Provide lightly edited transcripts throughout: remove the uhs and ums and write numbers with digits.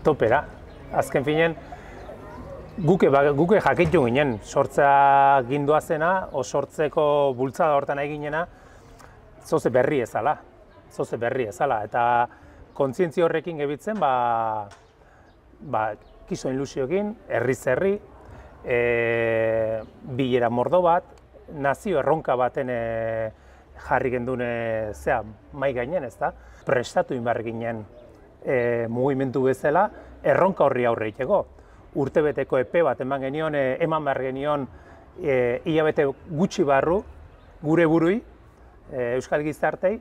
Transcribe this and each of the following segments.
topera. Azken finen, guke jakitxu ginen, sortzea gindua zena, o sortzeko bultzada hortan eginena, zoze berri ezala, eta kontzientzia horrekin gebitzen, kiso ilusioekin, herriz herri, bilera mordo bat, nazio erronka baten jarri gendune mai gainen, ezta? Prestatu inbar ginen mugimendu bezala, erronka horri aurre egiteko. Urtebeteko epe bat eman behar genion hilabete gutxi barru, gure burui, Euskal Gizartei,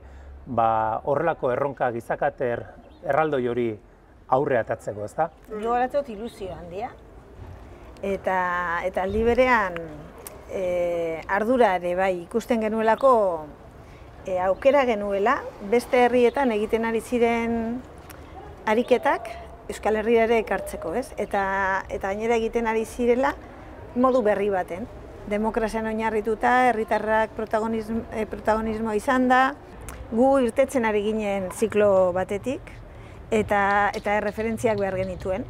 horrelako erronka gizakater erraldoi hori aurre atatzeko, ezta? Gogoratzot ilusio handia, eta aldi berean ardura ere bai ikusten genuelako aukera genuela, beste herrietan egiten ari ziren ariketak Euskal Herria ere ekartzeko, ez? Eta gainera egiten ari zirela modu berri baten. Demokrazian oinarrituta, herritarrak protagonismo izan da, gu irtetzen ari ginen ziklo batetik, eta erreferentziak behar genituen.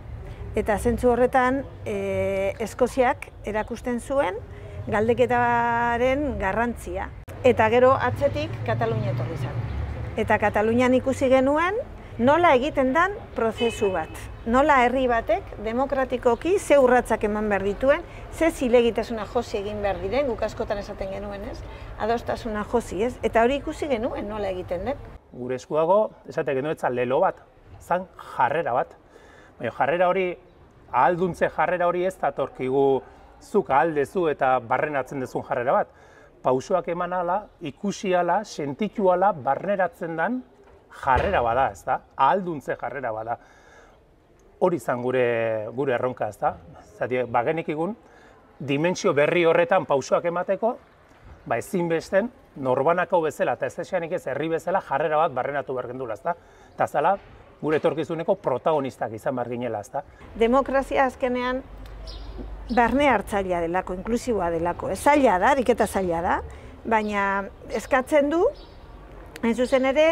Eta zentzu horretan, Eskoziak erakusten zuen galdeketaren garrantzia. Eta gero atzetik Katalunia etorri zen. Eta Katalunian ikusi genuen nola egiten den prozesu bat. Nola herri batek demokratikoki ze urratsak eman behar dituen, ze zilegitasuna josi egin behar diren, guk askotan esaten genuen, ez? Adostasuna josi, ez? Eta hori ikusi genuen nola egiten den. Gure eskuago, esate genuen zan lelo bat, zan jarrera bat. Baina jarrera hori, ahalduntze jarrera hori ez datorkigu zuk ahaldezu eta barrenatzen dezun jarrera bat. Pausoak eman ala, ikusi ala, sentitu ala, barneratzen den jarrera bada, ez da? Ahalduntze jarrera bada. Hori izan gure erronka, ez da? Zati, bagenik egun, dimentsio berri horretan pausoak emateko, ezinbesten, norbanako bezala eta ez esanik ez herri bezala jarrera bat barrenatu behar gendula, ez da? Eta zala, gure etorkizuneko protagonistak izan behar ginela, ez da? Demokrazia azkenean barne hartzailea delako, inklusiboa delako. Ez zaila da, ariketa zaila da, baina eskatzen du, hain zuzen ere,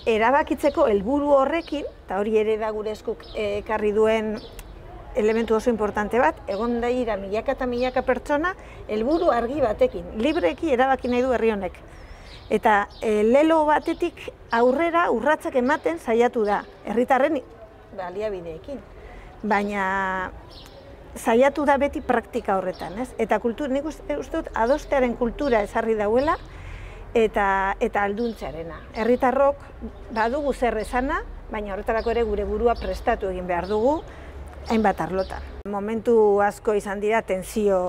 erabakitzeko helburu horrekin, eta hori ere da gure eskuk ekarri duen elementu oso importante bat, egon daira milaka eta milaka pertsona, helburu argi batekin, libreki erabaki nahi du herri honek. Eta lelo batetik aurrera urratsak ematen saiatu da, herritarren baliabideekin. Baina saiatu da beti praktika horretan, ez? Eta nik uste dut adostearen kultura ezarri dauela, eta alduntzearena. Herritarrok badugu zer esana, baina horretarako ere gure burua prestatu egin behar dugu, hainbat arlotan. Momentu asko izan dira tensio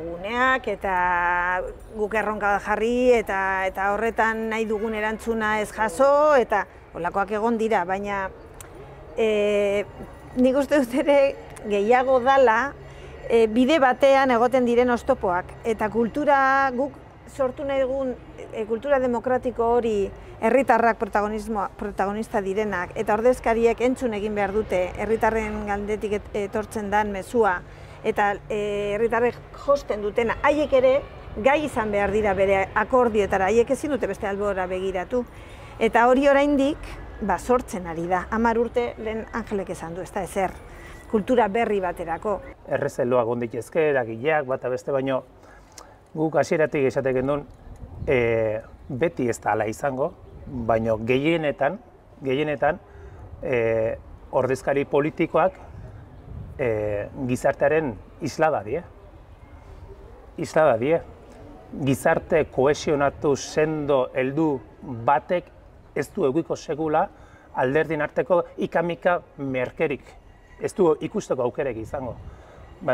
guneak, eta guk erronka jarri, eta horretan nahi dugun erantzuna ez jaso, eta holakoak egon dira, baina nik uste dut ere gehiago dala bide batean egoten diren oztopoak, eta kultura guk sortu nahi dugun kultura demokratiko hori herritarrak protagonista direnak eta ordezkariek entzun egin behar dute herritarren galdetik etortzen den mezua eta herritarrek josten dutena, haiek ere gai izan behar dira bere akordioetara, haiek ezin dute beste albora begiratu. Eta hori oraindik sortzen ari da, 10 urte lehen Angelek esan du, ez da ezer, kultura berri baterako. Errezeloak onditezke, eragileak, bata beste baino, guk hasieratik esatek gendun, beti ez da ala izango, baina gehienetan ordezkari politikoak gizartearen islada die. Gizarte kohesionatu sendo heldu batek ez du eguiko segula alderdien arteko ikamika merkerik. Ez du ikusteko aukerek izango.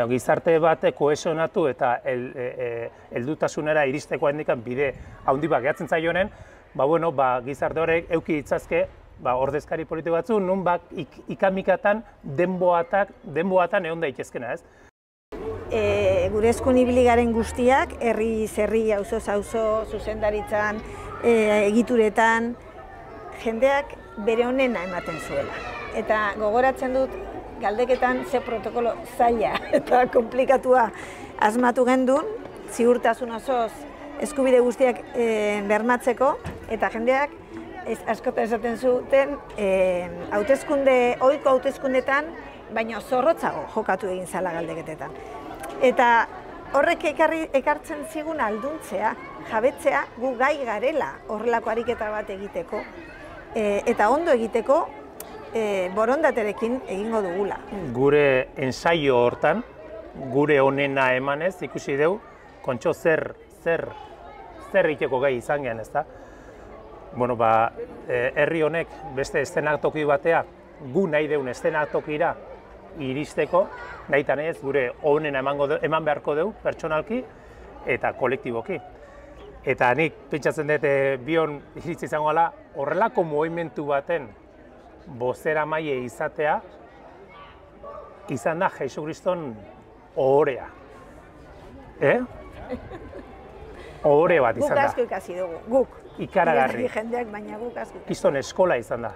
Gizarte batek kohesionatu eta heldutasunera iristeko handikan bide handi bat gehatzen zaionen, gizarte horrek eduki ditzazke ordezkari politiko batzu, nun ikamikatan denboatan egon daitezkena, ez? Gure eskun ibili garen guztiak, herri, auzo, zuzendaritzan, egituretan, jendeak bere honena ematen zuela. Eta gogoratzen dut, galdeketan ze protokolo zaila eta komplikatua asmatu gendun, ziurtasun osoz eskubide guztiak bermatzeko, eta jendeak askotan esaten zuten, ohiko hauteskundetan, baina zorrotzago jokatu egin zala galdeketetan. Eta horrek ekartzen zigun alduntzea, jabetzea, gu gai garela horrelako ariketa bat egiteko, eta ondo egiteko borondaterekin egingo dugula. Gure ensaio hortan, gure onena emanez, ikusi dugu, kontxo zer egiteko gai izan gehan, ez da? Bueno, herri honek beste eszenatoki batea, gu nahi deun eszenatokira iristeko, nahitan ez, gure onena eman beharko dugu, pertsonalki eta kolektiboki. Eta nik pentsatzen dut bion iritsi izango gala, horrelako mugimendu baten bozeramaile izatea, izan da Jesu Kriston ohorea. Ohore bat izan da. Guk asko ikasi dugu, guk. Ikaragarri. Jendeak, baina guk asko. Kriston eskola izan da.